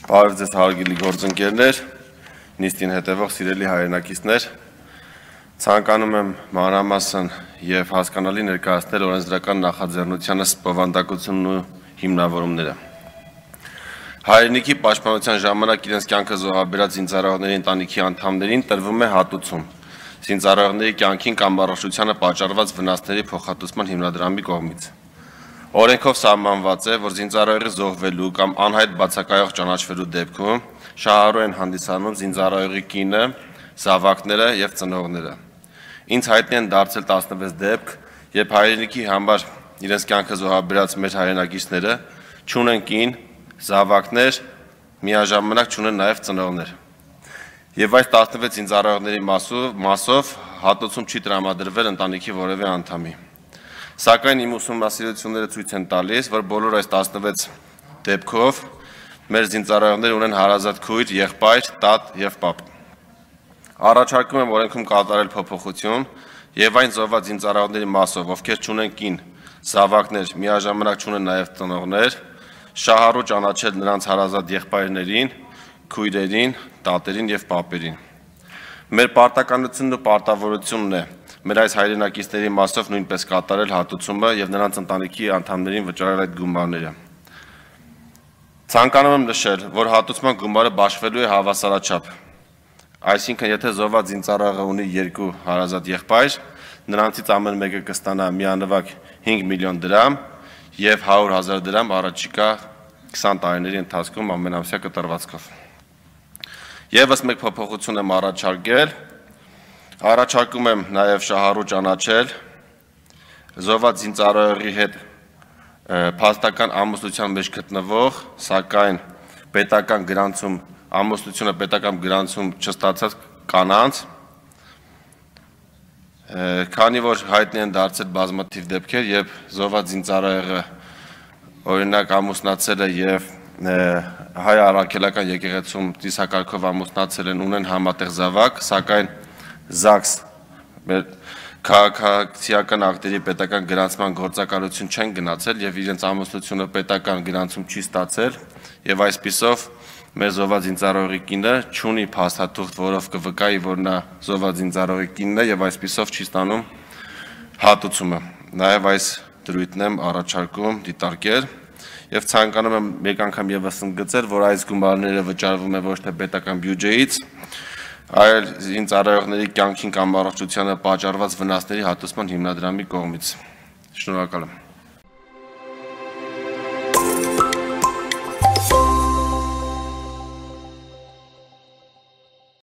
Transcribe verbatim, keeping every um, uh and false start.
Բարև ձեզ հարգելի գործընկերներ, նիստին հետևող սիրելի հայրենակիցներ, ցանկանում եմ մանրամասն եւ հասկանալի ներկայացնել օրենսդրական նախաձեռնությանը բովանդակությունն ու հիմնավորումները։ Հայրենիքի պաշտպանության ժամանակ իրենց կյանքը զոհաբերած զինծառայողների ընտանիքի անդամներին տրվում է հատուցում զինծառայողների կյանքին կամ առողջությանը պատճառված վնասների փոխհատուցման հիմնադրամի կողմից։ Օրենքով սահմանված է, որ զինծառայողի զոհվելու կամ անհայտ բացակայող ճանաչվելու դեպքում շահառու են հանդիսանում զինծառայողի կինը, զավակները եւ ծնողները։ Ինձ հայտնի են դարձել տասնվեց դեպք, երբ հայրենիքի համար իրենց կյանքը զոհաբերած մեր հայրենակիցները չունեն կին, զավակներ, միաժամանակ չունեն նաեւ ծնողներ։ Եվ այս տասնվեց զինծառայողների մասով հատուցում չի տրամադրվել ընտանիքի որևէ անդամի։ Սակայն իմ ուսումնասիրությունները ցույց են տալիս, որ բոլոր այս տասնվեց դեպքով մեր զինծառայողները ունեն հարազատ քույր, եղբայր, տատ եւ պապ։ Առաջարկում եմ օրենքում կատարել փոփոխություն եւ այն զոհված զինծառայողների մասով, ովքեր չունեն կին, զավակներ, միաժամանակ չունեն նաեւ ծնողներ, շահառու ճանաչել նրանց հարազատ եղբայրներին, քույրերին, տատերին եւ պապերին։ Մեր պարտականությունն ու պարտավորությունն է մեր այս հայրենակիցների մասով նույնպես կատարել հատուցումը եւ նրանց ընտանիքի անդամներին վճարել այդ գումարները։ Ցանկանում եմ նշել, որ հատուցման գումարը բաշխվելու է հավասարաչափ։ Այսինքն, եթե զոհված զինծառայողը ունի երկու հարազատ եղբայր, նրանցից ամեն մեկը կստանա միանվագ հինգ միլիոն դրամ եւ հարյուր հազար դրամ առաջիկա քսան տարիների ընթացքում ամենամսյա կտրվածքով։ Եվս մեկ փոփոխություն եմ առաջարկել։ Առաջարկում եմ նաև շահառու ճանաչել զոհված զինծառայողի հետ փաստական ամուսնության մեջ գտնվող, սակայն պետական գրանցում ամուսնությունը պետական գրանցում չստացած կանանց, քանի որ հայտնի են դարձել բազմաթիվ դեպքեր, երբ զոհված զինծառայողը օրինակ ամուսնացել է եւ հայ առաքելական եկեղեցում ծիսակարգով ամուսնացել են, ունեն համատեղ զավակ, սակայն ԶԱԳՍ մեր քաղաքացիական ակտերի պետական գրանցման գործակալություն չեն գնացել եւ իրենց ամուսնությունը պետական գրանցում չի ստացել եւ այսպիսով մեր զոհված զինծառայողի կինը չունի փաստաթուղթ, որով կվկայի, որ նա զոհված զինծառայողի կինն է եւ այսպիսով չի ստանում հատուցումը։ Նաեւ այս դրույթն եմ առաջարկում դիտարկել եւ ցանկանում եմ մեկ անգամ եւս ընդգծել, որ այս գումարները վճարվում է ոչ թե պետական բյուջեից, այլ զինծառայողների կյանքին կամ առողջությանը պատճառված վնասների հատուցման հիմնադրամի կողմից։ Շնորհակալ եմ։